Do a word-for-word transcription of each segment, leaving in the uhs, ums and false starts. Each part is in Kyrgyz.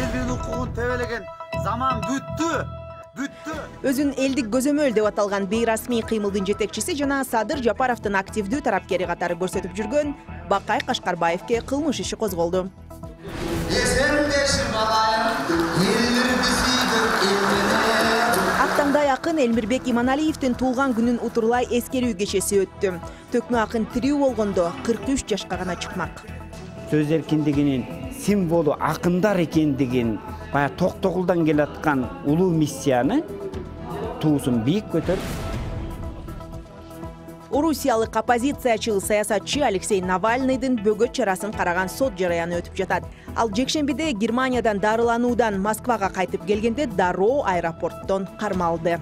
элдин укугун тебелеген заман бүттү. Бүттү. Өзүн элдик көзөмөл деп аталган бейрасмий кыймылдын жетекчиси жана Садыр Жапаровдун активдүү тарапкери катары көрсөтүп жүргөн Бакай Кашкарбаевке кылмыш иши козголду. Актаңдай акын Элмирбек Иманалиевдин туулган күнүн утурлай эскерүү кечеси өттү. Төкмө акын тирүү болгондо кырк үч жашка гана чыкмак. Сөз эркиндигинин символу акындар экендигин бая токтогулдан келаткан улуу миссияны туусун бийик көтөрүп. Орусиялык оппозициячы саясатчы Алексей Навальныйдын бөгөт чарасын караган сот жараяны өтүп жатат. Ал жекшембиде Германиядан дарылануудан Москвага кайтып келгенде дароо аэропорттон кармалды.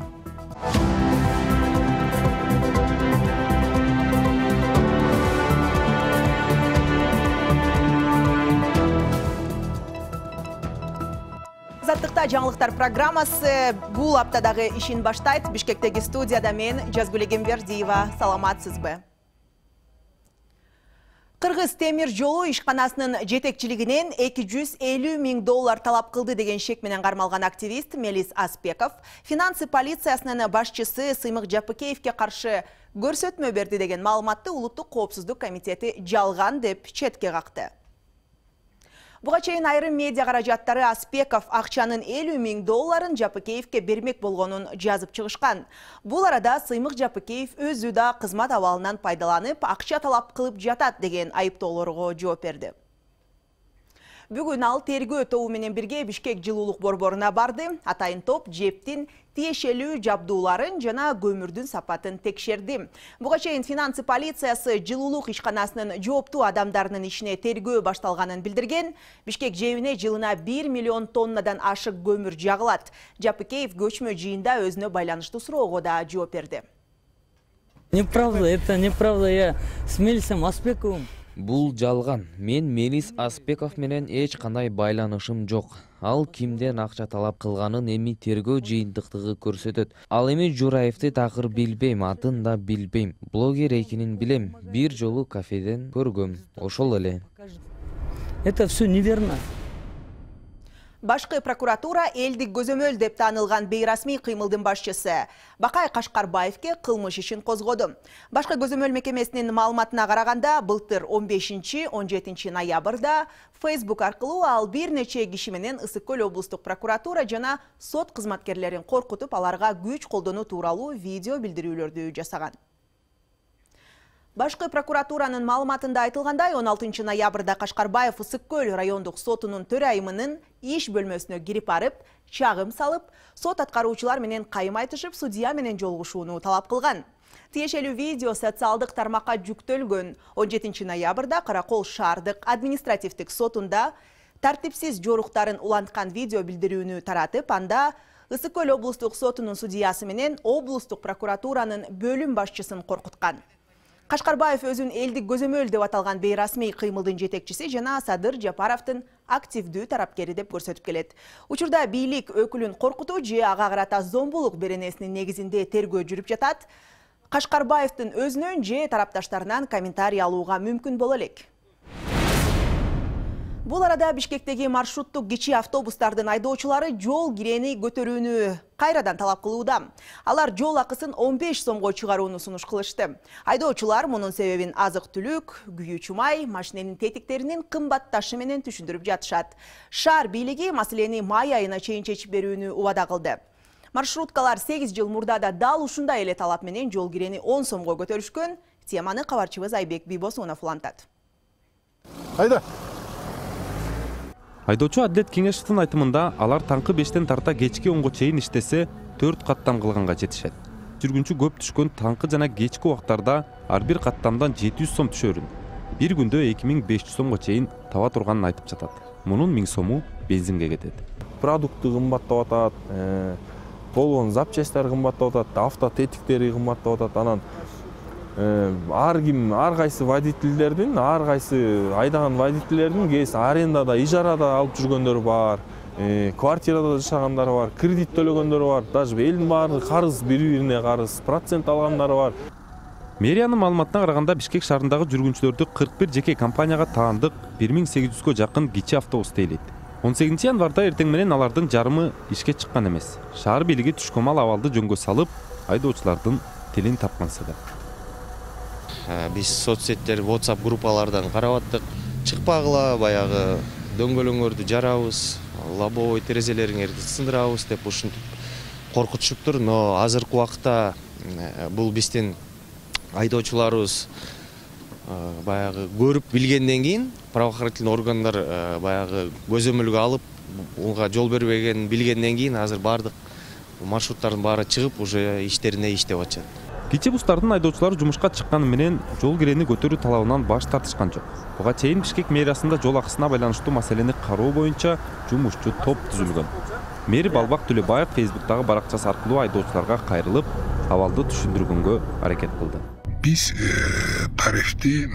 Заттыкта жаңылыктар программасы бул аптадагы ишин баштайт. Бишкектеги студияда мен Жазгүл Эгембердиева. Саламатсызбы? Кыргыз темир жолу ишканасынын жетекчилигинен эки жүз элүү миң доллар талап кылды деген шек менен кармалган активист Мелис Аспеков финансы полициясынын башчысы Сыймык Жапыкеевке каршы көрсөтмө берди деген маалыматты Улуттук коопсуздук комитети жалган деп четке какты. Буга чейин айрым медиа каражаттары Аспеков акчанын элүү миң долларын Жапыкеевке бермек болгонун жазып чыгышкан. Бул арада Сыймык Жапыкеев өзү да кызмат абалынан пайдаланып, акча талап кылып жатат деген айыптоолорго жооп берди. Бүгүн ал тергөө тобу менен бирге Бишкек жылуулук борборуна барды. Атайын топ жептин тиешелүү жабдууларын жана көмүрдүн сапатын текшерди. Буга чейин финансы полициясы жылуулук ишканасынын жооптуу адамдарынын ишине тергөө башталганын билдирген. Бишкек жебине жылына бир миллион тоннадан ашык көмүр жагылат. Жапыкеев көчмө жыйында өзүнө байланыштуу суроого да жооп берди. Неправда, это неправда, я с Мелисом Аспековым. Бул жалган. Мен Мелис Аспеков менен эч кандай байланышым жок. Ал кимден акча талап кылганын эми тергөө жыйынтыктыгы көрсөтөт. Ал эми Жураевди такыр билбейм, атын да билбейм. Блогер экенин билем. Бир жолу кафеден көргөм. Ошол эле. Это все неверно. Башкы прокуратура элдик көзөмөл деп таанылган бейрасмий кыймылдын башчысы Бакай Кашкарбаевке кылмыш ишин козгоду. Башкы көзөмөл мекемесинин маалыматына караганда, былтыр он бешинчи он жетинчи ноябрда Facebook аркылуу ал бир нече киши менен Ысык Көл облустук прокуратура жана сот кызматкерлерин коркутуп, аларга күч колдонуу тууралуу видео билдирүүлөрдү жасаган. Башкы прокуратуранын маалыматында айтылгандай, он алтынчы ноябрда Кашкарбаев Ысык Көл райондук сотунун төрайымынын иш бөлмөсүнө кирип барып, чагым салып, сот аткаруучулар менен кайым айтышып, судья менен жолугушууну талап кылган. Тиешелүү видео социалдык тармакка жүктөлгөн. он жетинчи ноябрда Каракол шаардык административдик сотунда тартипсиз жоруктарын уланткан видео билдирүүнү таратып, анда Ысык Көл облустук сотунун судьясы менен облустук прокуратуранын бөлүм башчысын коркуткан. Кашкарбаев өзүн элдик көзөмөл деп аталган бейрасмий кыймылдын жетекчиси жана Садыр Жапаровдун активдүү тарапкери деп көрсөтүп келет. Учурда бийлик өкүлүн коркутуу же ага карата зомбулук беренесинин негизинде тергөө жүрүп жатат. Кашкарбаевдин өзүнөн же тарапташтарынан комментарий алууга мүмкүн боло элек. Бул арада Бишкектеги маршруттук кичи автобустардын айдоочулары жол кирени көтөрүүнү кайрадан талап кылууда. Алар жол акысын он беш сомго чыгарууну сунуш кылышты. Айдоочулар мунун себебин азык-түлүк, күйүүчү май, машиненин тетиктеринин кымбатташы менен түшүндүрүп жатышат. Шаар бийлиги маселени май айына чейин чечип берүүнү убада кылды. Маршруткалар сегиз жыл мурда да дал ушундай эле талап менен жол кирени он сомго көтөрүшкөн. Теманы кабарчыбыз Айбек Бийбосунов улантат. Айда. Айдоочу Адилет Кеңешевдин айтымында, алар таңкы бештен тарта кечки онго чейин иштесе, төрт каттам кылганга жетишет. Жүргүнчү көп түшкөн таңкы жана кечки убактарда ар бир каттамдан жети жүз сом түшөрүн. Бир күндө эки миң беш жүз сомго чейин таба турганын айтып жатат. Мунун миң сому бензинге кетет. Продукты кымбаттап атат, болгон запчасттар кымбаттап атат, авто тетиктери кымбаттап атат. Анан ар ким, ар кайсы водительдердин, ар кайсы айдаган водительдердин кээси арендада, ижарада алып жүргөндөр бар, квартирада жашагандар бар, кредит төлөгөндөр бар, даже элдин баары карыз, бири-бирине карыз, процент алгандар бар. Мэриянын маалыматына караганда, Бишкек шаарындагы жүргүнчүлөрдү кырк бир жеке компанияга таандык бир миң сегиз жүзгө жакын кичи автобус тейлейт. он сегизинчи январда эртең менен алардын жарымы ишке чыккан эмес. Шаар бийлиги түшкөмал абалды жөнгө салып, айдоочулардын тилин тапканса да. Биз соцсеттер, WhatsApp группалардан карап аттык. Чыкпагыла, баягы дөңгөлөңөрдү жарабыз, лобовой терезелериңерди сындырабыз деп ушинтип коркутушуптур. Но азыркы убакта бул биздин айдоочуларыбыз баягы көрүп билгенден кийин правоохранительный органдар баягы көзөмөлгө алып, унга жол бербегенин билгенден кийин азыр бардык маршруттардын баары чыгып, уже иштерине иштеп атышат. Кичи бустардын айдоочулары жумушка чыкканы менен жол кирени көтөрүү талабынан баш тартышкан жок. Буга чейин Бишкек мэриясында жол акысына байланыштуу маселени кароо боюнча жумушчу топ түзүлгөн. Мэр Балбак Төлөбаев Фейсбуктагы баракчасы аркылуу айдоочуларга кайрылып, абалды түшүндүргөнгө аракет кылды. Биз тарифти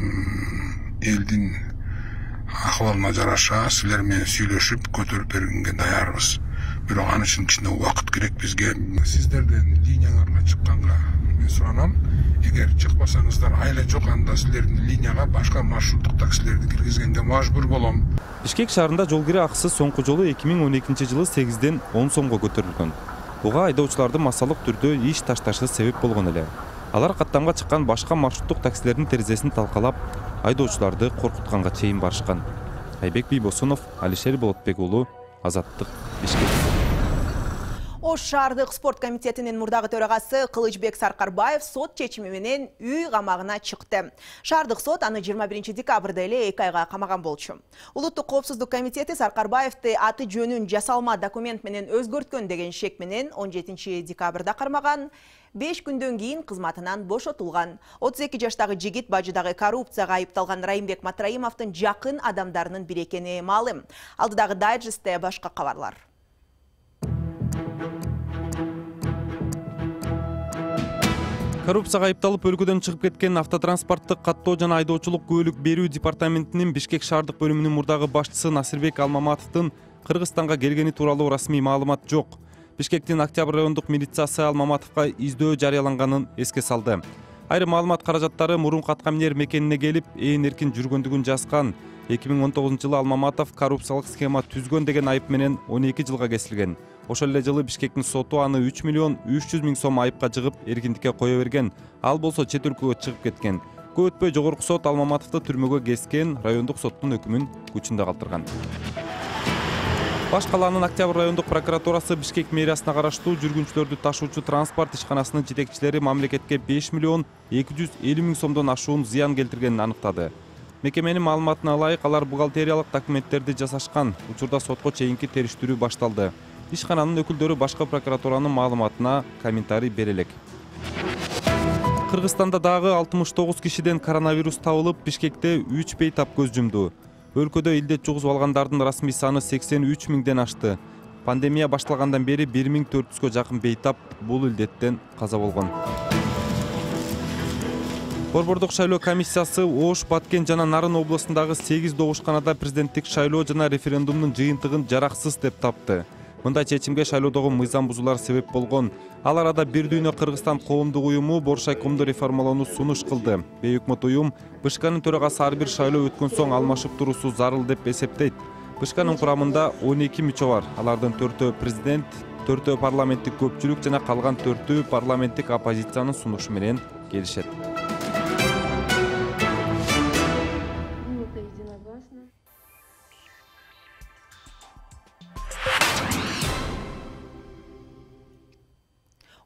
элдин акыбалына жараша силер менен сүйлөшүп көтөрүп бергенге даярбыз. Бирок аны үчүн кичине убакыт керек бизге. Сиздерден линияларга чыкканга мен суранам. Эгер чыкпасаңыздар, айла жок, анда силердин линияга башка маршруттук таксилерди киргизгенге мажбур болом. Бишкек шаарында жол кире акысы соңку жолу эки миң он экинчи жылы сегизден он сомго көтөрүлгөн. Буга айдоочулардын массалык түрдө иш ташташы себеп болгон эле. Алар каттамга чыккан башка маршруттук таксилердин терезесин талкалап, айдоочуларды коркутканга чейин барышкан. Айбек Бийбосунов, Алишер Болотбек уулу, Азаттык, Бишкек. Ош шаардык спорт комитетинин мурдагы төрагасы Кылычбек Саркарбаев сот чечими менен үй камагына чыкты. Шаардык сот аны жыйырма биринчи декабрда эле эки айга камаган болчу. Улуттук коопсуздук комитети Саркарбаевди аты жөнүн жасалма документ менен өзгөрткөн деген шек менен он жетинчи декабрда кармаган. беш күндөн кийин кызматынан бошотулган. отуз эки жаштагы жигит бажыдагы коррупцияга айыпталган Райымбек Матраимовдун жакын адамдарынын бири экени маалым. Алдыдагы дайджестте башка кабарлар. Коррупцияга айыпталып өлкөдөн чыгып кеткен автотранспорттук каттоо жана айдоочулук күбөлүк берүү департаментинин Бишкек шаардык бөлүмүнүн мурдагы башчысы Насирбек Алмаматовдун Кыргызстанга келгени тууралуу расмий маалымат жок. Бишкектин Октябрь райондук милициясы Алмаматовго издөө жарыяланганын эске салды. Айрым маалымат каражаттары мурунку атка минер мекенине келип, ээн эркин жүргөндүгүн жазган. эки миң он тогузунчу жылы Алмаматов коррупциялык схема түзгөн деген айып менен он эки жылга кесилген. Ошол эле жылы Бишкектин соту аны үч миллион үч жүз миң сом айыпка жыгып, эркиндикке кое берген. Ал болсо чет өлкөгө чыгып кеткен. Көп өтпөй жогорку сот Алмаматовду түрмөгө кескен, райондук соттун өкүмүн күчүндө калтырган. Баш калаанын Октябрь райондук прокуратурасы Бишкек мэриясына караштуу жүргүнчүлөрдү ташуучу транспорт ишканасынын жетекчилери мамлекетке беш миллион эки жүз элүү миң сомдон ашуун зыян келтиргенин аныктады. Мекеменин маалыматына ылайык, алар бухгалтериялык документтерди жасашкан. Учурда сотко чейинки териштирүү башталды. Ишкананын өкүлдөрү башкы прокуратуранын маалыматына комментарий бере элек. Кыргызстанда дагы алтымыш тогуз кишиден коронавирус табылып, Бишкекте үч бейтап көз жумду. Өлкөдө илдет жугузуп алгандардын расмий саны сексен үч миңден ашты. Пандемия башталгандан бери бир миң төрт жүзгө жакын бейтап бул илдеттен каза болгон. Борбордук шайлоо комиссиясы Ош, Баткен жана Нарын областындагы сегиз добушканада президенттик шайлоо жана референдумдун жыйынтыгын жараксыз деп тапты. Мындай чечимге шайлоодогу мыйзам бузуулар себеп болгон. Ал арада Бир дүйнө Кыргызстан коомдук уюму Боршайкомду реформалоону сунуш кылды. Бейөкмөт уюм БШКнын төрагасы ар бир шайлоо өткөн соң алмашып туруусу зарыл деп эсептейт. БШКнын курамында он эки мүчө бар. Алардын төртөө президент, төртөө парламенттик көпчүлүк жана калган төртөө парламенттик оппозициянын сунушу менен келишет.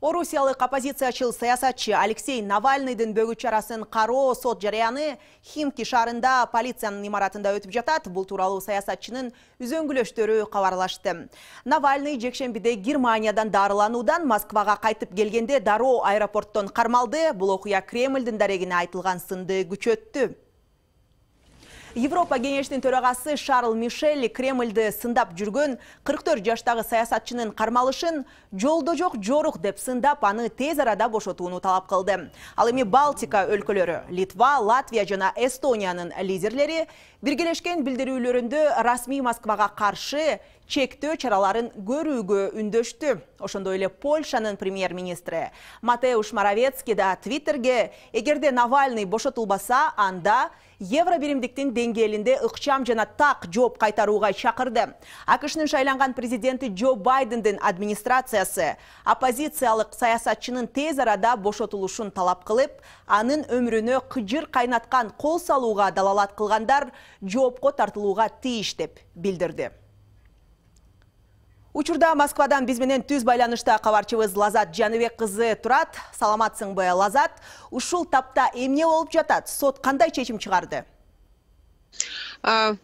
Орусиялык оппозициячыл саясатчы Алексей Навальныйдын бөгү чарасын кароо сот жарыяны Химки шаарында полициянын имаратында өтүп жатат. Бул тууралуу саясатчынын үзөңгүлөштөрү кабарлашты. Навальный жекшембиде Германиядан дарылануудан Москвага кайтып келгенде дароо аэропорттон кармалды. Бул окуя Кремлдин дарегине айтылган сынды күчөттү. Европа кеңешинин төрагасы Шарл Мишель Кремльди сындап жүргөн кырк төрт жаштагы саясатчынын кармалышын жолдо жок жорук деп сындап, аны тез арада бошотууну талап кылды. Ал эми Балтика өлкөлөрү, Литва, Латвия жана Эстониянын лидерлери Биргелешкен билдирүүлөрүндө расмий Москвага каршы чектөө чараларын көрүүгө үндөштү. Ошондой эле Польшанын премьер-министри Матеуш Моровецкий да Твиттерге эгерде Навальный бошотулбаса, анда евробиримдиктин деңгээлинде ыкчам жана так жооп кайтарууга чакырды. АКШнын шайланган президенти Джо Байдендин администрациясы оппозициялык саясатчынын тез арада бошотулушун талап кылып, анын өмүрүнө кыжыр кайнаткан кол салууга далалат кылгандар жоопко тартылууга тийиш деп билдирди. Учурда Москвадан биз менен түз байланышта кабарчыбыз Лазат Жаныбек кызы турат. Саламатсыңбы, Лазат? Ушул тапта эмне болуп жатат? Сот кандай чечим чыгарды?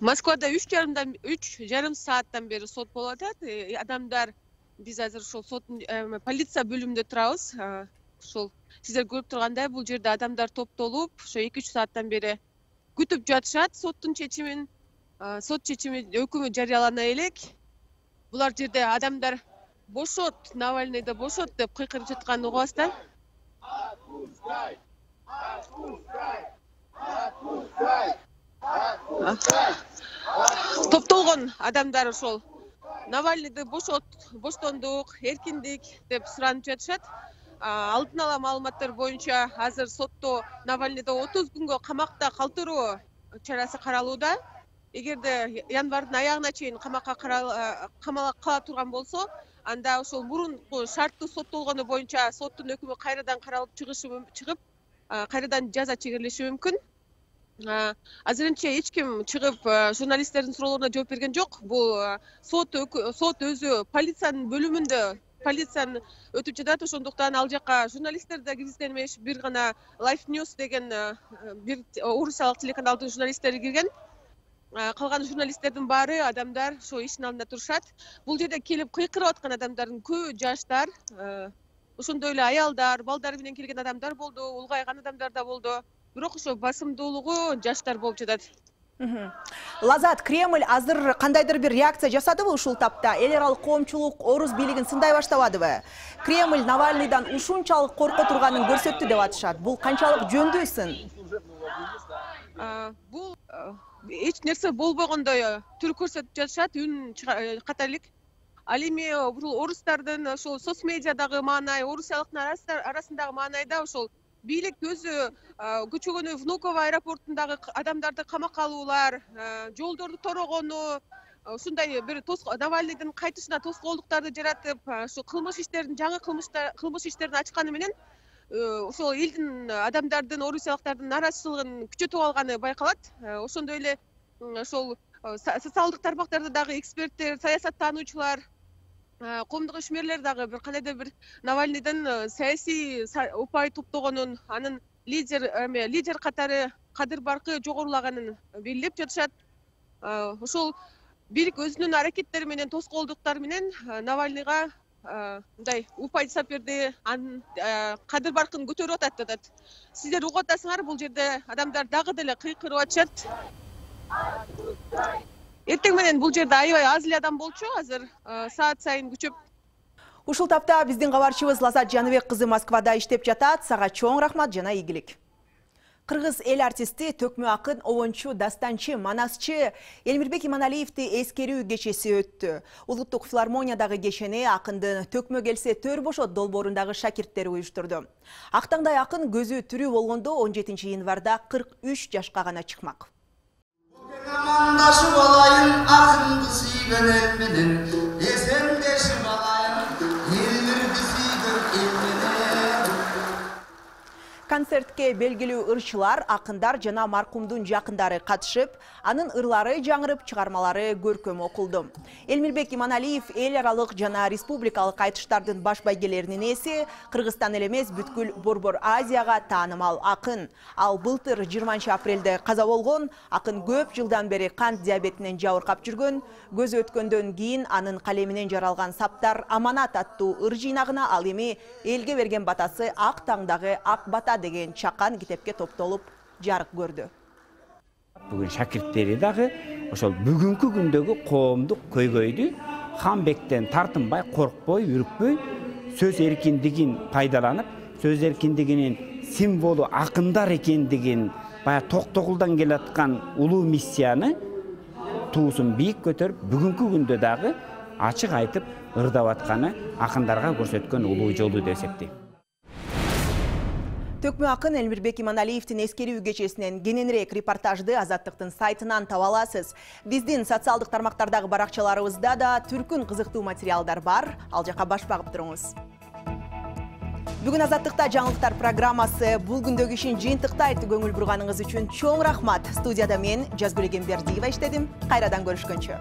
Москвада үч жарымдан үч жарым сааттан бери сот болуп атат. Адамдар, биз азыр ушул сот полиция бөлүмүндө турабыз. Ушул сиздер көрүп тургандай, бул жерде адамдар топтолуп, ошо эки үч сааттан бери күтүп жатышат соттун чечимин. Сот чечими өкүмү жарыялана элек. Булар жерде адамдар бошот, Навальныйды бошот деп кыйкырып жатканын угабыздар. Топтолгон адамдар ошол Навальныйды бошот, боштондук, эркиндик деп суранып жатышат. Алдын ала маалыматтар боюнча азыр сотто Навальныйды отуз күнгө камакта калтыруу чарасы каралууда. Эгерде январдын аягына чейин камакка камалып кала турган болсо, анда ошол мурунку шарттуу соттолгону боюнча соттун өкүмү кайрадан каралып чыгышы чыгып, кайрадан жаза чегирилиши мүмкүн. Азырынча эч ким чыгып журналисттердин суроолоруна жооп берген жок. Бул сот сот өзү полициянын бөлүмүндө полициянын өтүп жатат, ошондуктан ал жака журналисттер да киргизген эмес. Бир гана Life News деген бир орусиялык телеканалдын журналисттери кирген. Калган журналисттердин баары адамдар ошо иштин алдында турушат. Бул жерде келип кыйкырып аткан адамдардын көбү жаштар, ошондой эле аялдар, балдары менен келген адамдар болду, улгайган адамдар да болду. Бирок ошо басымдуулугу жаштар болуп жатат. Лазат, Кремль азыр кандайдыр бир реакция жасадыбы ушул тапта? Эл аралык коомчулук орус бийлигин сындай баштабадыбы? Кремль Навальныйдан ушунчалык корко турганын көрсөттү деп атышат. Бул канчалык жөндүү сын? Бул эч нерсе болбогондой түр көрсөтүп жатышат, үн катарлык. Ал эми орустардын ошол соц медиадагы маанай, орусиялыктар арасындагы маанайда ошол бийлик өзү көчөгөнү Внуково аэропортундагы адамдарды камакка алуулар, жолдорду торогону, ушундай бир Навальныйдын кайтышына тоскоолдуктарды жаратып, ошо кылмыш иштерин, жаңы кылмыш иштерин ачканы менен ошол элдин адамдардын, орусиялыктардын нааразычылыгын күчөтүп алганы байкалат. Ошондой эле ошол социалдык тармактарда дагы эксперттер, саясаттануучулар, коомдук ишмерлер дагы бир кандайдыр бир Навальныйдын саясий упай топтогонун, анын лидер лидер катары кадыр баркы жогорулаганын белгилеп жатышат. Ошол бийлик өзүнүн аракеттери менен, тоскоолдуктары менен Навальныйга мындай упай жасап берди, анын кадыр баркын көтөрүп атат атат. Сиздер угуп атасыңар, бул жерде адамдар дагы деле кыйкырып атышат. Эртең менен бул жерде аябай аз эле адам болчу, азыр саат сайын күчөп. Ушул тапта биздин кабарчыбыз Лазат Жаныбек кызы Москвада иштеп жатат. Сага чоң рахмат жана ийгилик. Кыргыз эл артисти, төкмө акын, обончу, дастанчы, манасчы Элмирбек Иманалиевди эскерүү кечеси өттү. Улуттук филармониядагы кечени акындын төкмө келсе төр бошот долбоорундагы шакирттери уюштурду. Актаңдай акын көзү тирүү болгондо он жетинчи январда кырк үч жашка гана чыкмак. Amandashıp alayım akındı suyben elmeden, esendeşip alayım elmirdi suyben elmeden. Концертке белгилүү ырчылар, акындар жана маркумдун жакындары катышып, анын ырлары жаңырып, чыгармалары көркөм окулду. Элмирбек Иманалиев эл аралык жана республикалык айтыштардын баш байгелеринин ээси, Кыргызстан эле эмес бүткүл Борбор Азияга таанымал акын. Ал былтыр жыйырманчы апрелде каза болгон. Акын көп жылдан бери кант диабетинен жабыркап жүргөн. Көзү өткөндөн кийин анын калеминен жаралган Саптар аманат аттуу ыр жыйнагына ал эми элге берген батасы Ак таңдагы ак бата деген чакан китепке топтолуп жарык көрдү. Бүгүн шакирттери дагы ошол бүгүнкү күндөгү коомдук көйгөйдү Ханбектен тартынбай, коркпой, үрүкпөй, сөз эркиндигин пайдаланып, сөз эркиндигинин символу акындар экендигин баягы токтогулдан келаткан улуу миссияны туусун бийик көтөрүп, бүгүнкү күндө дагы ачык айтып ырдап атканы акындарга көрсөткөн улуу жолу деп эсептейм. Төкмө акын Элмирбек Иманалиевдин эскерүү кечесинен кененирээк репортажды Азаттыктын сайтынан таба аласыз. Биздин социалдык тармактардагы баракчаларыбызда да түркүн кызыктуу материалдар бар. Ал жака баш багып туруңуз. Бүгүн Азаттыкта жаңылыктар программасы бул күндөгү ишин жыйынтыктайт. Көңүл бурганыңыз үчүн чоң рахмат. Студияда мен Жазгүл Эгембердиева иштедим. Кайрадан көрүшкөнчө.